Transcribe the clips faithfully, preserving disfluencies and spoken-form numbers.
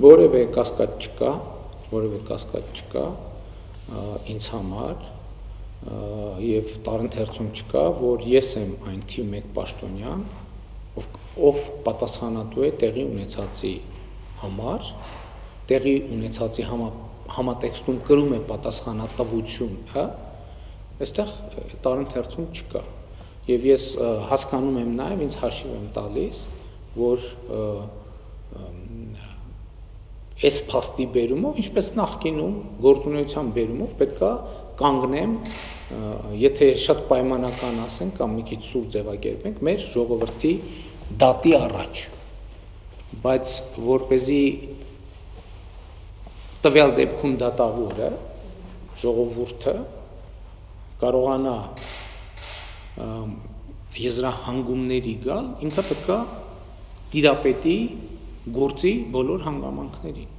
որևէ կասկած չկա, որևէ կասկած չկա ինձ համար եւ տարընթերցում չկա, որ ես եմ այն թիվ մեկ պաշտոնյան, ով, ով պատասխանատու է տեղի ունեցածի համար, տեղի ունեցածի համա, համատեքստում կրում է պատասխանատվություն, հա, այստեղ տարընթերցում չկա։ Եվ ես հասկանում եմ նաեւ, ինձ հաշիվ եմ տալիս, որ այս փաստի բերումով, ինչպես նախկինում գործունեության բերումով պետքա կանգնեմ, եթե շատ պայմանական ասենք կամ մի քիչ սուր ձևակերպենք, մեր ժողովրդի դատի առաջ, բայց որպեսզի տվյալ դեպքում դատավորը, ժողովուրդը կարողանա եզրահանգումների գալ, ինքը պետքա տիրապետի գործի բոլոր հանգամանքներին։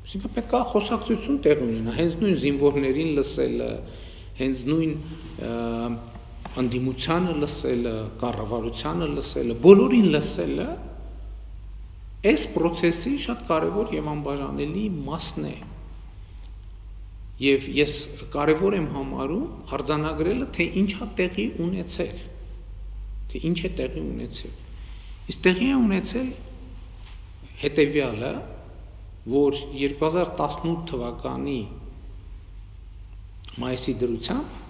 Այսինքն պետք է խոսակցություն տեղի ունենա, հենց նույն զինվորներին լսելը, հենց նույն անդիմությանը լսելը, կառավարությանը լսելը, բոլորին լսելը այս process-ի շատ կարևոր եւ անբաժանելի մասն է։ Եվ ես կարևոր եմ համարում արձանագրելը, թե ինչա տեղի ունեցել, թե ինչ է տեղի ունեցել։ Իսկ տեղի է ունեցել հետևյալը, որ երկու հազար տասնութ թվականի մայիսի դրությամբ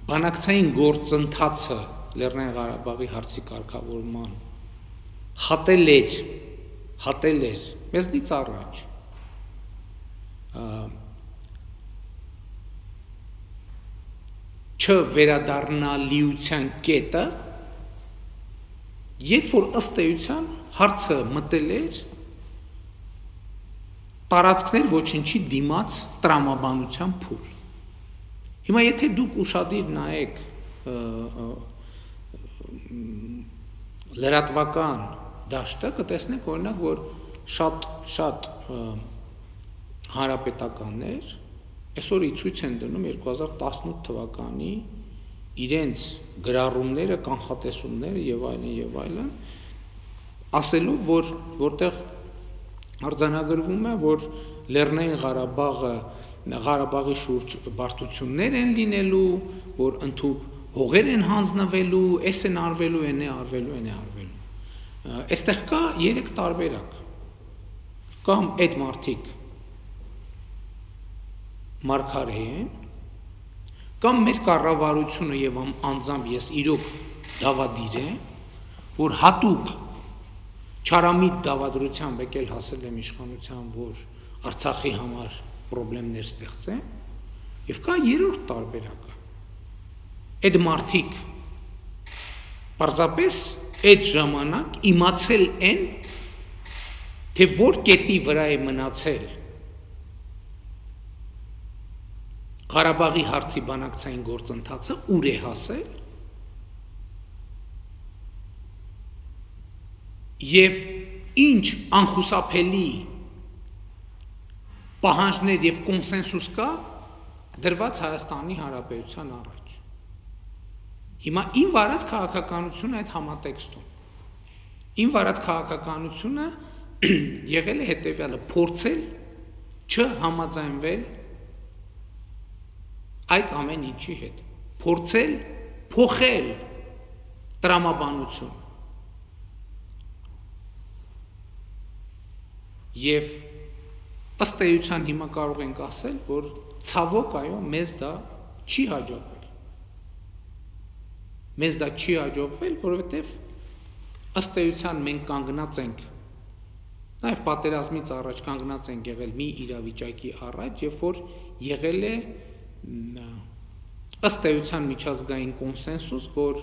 բանակցային գործընթացը Լեռնային Ղարաբաղի հարցի կարգավորման հատել էր, հատել էր մեզնից առաջ չվերադառնալիության կետը, երբ որ ըստ էության հարցը մտել էր տարածքներ ոչնչի դիմաց տրամաբանության փուլ։ Հիմա եթե դուք ուշադիր նայեք լրատվական դաշտը, կտեսնեք օրինակ, որ շատ շատ հանրապետականներ այսօր ցույց են դնում երկու հազար տասնութ թվականի իրենց գրառումները, կանխատեսումները եւ այլն եւ այլն, ասելով, որ որտեղ արձանագրվում է, որ Լեռնային Ղարաբաղը Ղարաբաղի շուրջ բարդություններ են լինելու, որ ընդհանուր հողեր են հանձնվելու, էս են արվելու, են է արվելու, են է արվելու։ Այստեղ կա երեք տարբերակ։ Կամ այդ մարդիկ մարգարե են, կամ մեր կառավարությունը եւ անձամբ ես իրոք դավադիր եմ, որ հատուկ չարամիտ դավադրությամբ եկել հասել եմ իշխանության, որ Արցախի համար պրոբլեմներ ստեղծեմ, եւ կա երրորդ տարբերակը։ Այդ մարդիկ պարզապես այդ ժամանակ իմացել են, թե որ կետի վրա է մնացել Ղարաբաղի հարցի բանակցային գործընթացը, ուր է հասել, եւ ինչ անխուսափելի պահանջներ եւ կոնսենսուս կա դրված Հայաստանի Հանրապետության առաջ։ Հիմա ին վարած քաղաքականությունը այդ համատեքստում։ Ին վարած քաղաքականությունը եղել է հետեւյալը՝ փորձել չհամաձայնվել այդ ամեն ինչի հետ, փորձել փոխել տրամաբանություն։ Եվ ըստ էության հիմա կարող ենք ասել, որ ցավոք այո, մեզ դա չի հաջողվել։ Մեզ դա չի հաջողվել, որովհետև ըստ էության մենք կանգնած ենք, նաև պատերազմից առաջ կանգնած ենք եղել մի իրավիճակի առաջ, երբ որ եղել է ըստ էության միջազգային կոնսենսուս, որ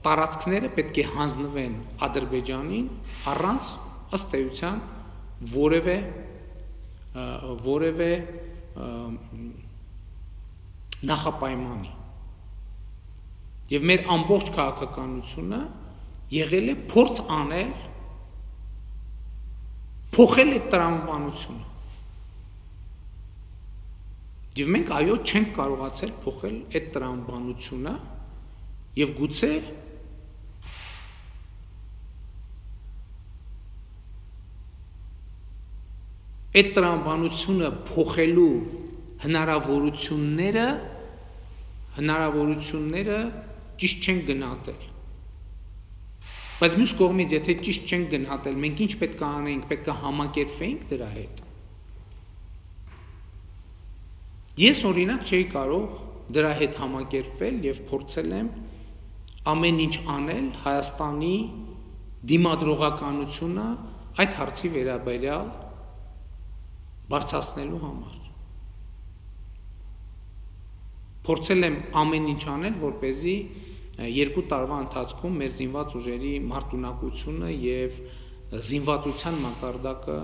տարածքները պետք է հանձնվեն Ադրբեջանին առանց ըստ էության որևէ որևէ նախապայմանի։ Եվ մեր ամբողջ քաղաքականությունը եղել է փորձ անել փոխել այդ տրամաբանությունը։ Եվ մենք այո չենք կարողացել փոխել այդ տրամաբանությունը եւ գուցե այդ տրամաբանությունը փոխելու հնարավորությունները հնարավորությունները ճիշտ չեն գնահատել։ Բայց մյուս կողմից, եթե ճիշտ չեն գնահատել, մենք ինչ պետք է անենք, պետք է համակերպվենք դրա հետ։ Ես օրինակ չէի կարող դրա հետ համակերպվել եւ փորձել եմ ամեն ինչ անել Հայաստանի դիմադրողականությունը այդ հարցի վերաբերյալ բարձրացնելու համար։ Փորձել եմ ամեն ինչ անել, որպեսզի երկու տարվա ընթացքում մեր զինված ուժերի մարտունակությունը եւ զինվածության մակարդակը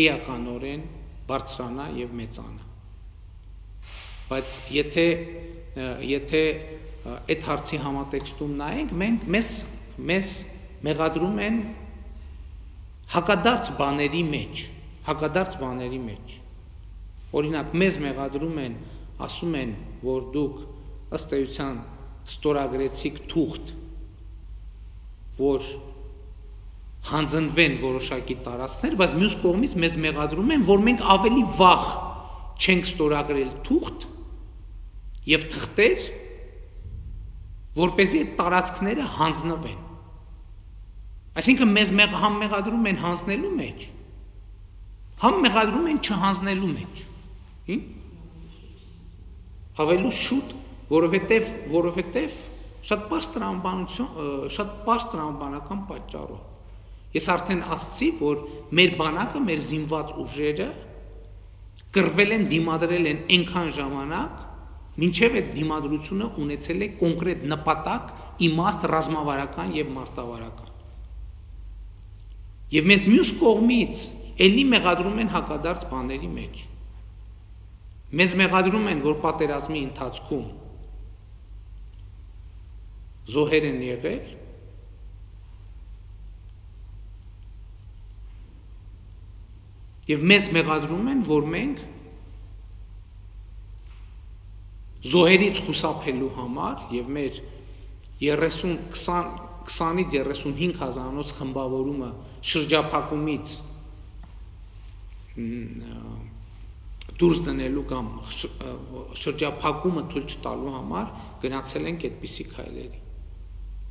էականորեն բարձրանա եւ մեծանա։ Բայց եթե եթե այդ հարցի համատեքստում նայենք, մենք մեզ մեզ մեղադրում են հակադարձ բաների մեջ, հակադարձ բաների մեջ։ Օրինակ, մեզ մեղադրում են, ասում են, որ դուք ըստ էության ստորագրեցիք թուղթ, որ հանձնվեն որոշակի տարածքներ, բայց մյուս կողմից մեզ մեղադրում են, որ մենք ավելի վաղ չենք ստորագրել թուղթ եւ թղթեր, որպեսզի այդ տարածքները հանձնվեն։ Այսինքն մեզ համ մեղադրում են հանձնելու մեջ, համ մեղադրում են չհանձնելու մեջ։ Հին? Ավելի շուտ, որովհետև որովհետև շատ բարձր տրամաբանություն, շատ բարձր տրամաբանական պատճառով։ Ես արդեն ասացի, որ մեր բանակը, մեր զինված ուժերը կռվել են, դիմադրել են այնքան ժամանակ, մինչև այդ դիմադրությունը ունեցել է կոնկրետ նպատակ, իմաստ, ռազմավարական եւ մարտավարական։ Եվ մեզ մյուս կողմից էլի մեղադրում են հակադարձ բաների մեջ։ Մեզ մեղադրում են, որ պատերազմի ընթացքում զոհեր են եղել, եւ մեզ մեղադրում են, որ մենք զոհերից խուսափելու համար եւ մեր քսանից երեսունհինգ հազարանոց խմբավորումը շրջափակումից դուրս դնելու կամ շրջափակումը թույլ չտալու համար գնացել ենք այդպիսի քայլերի։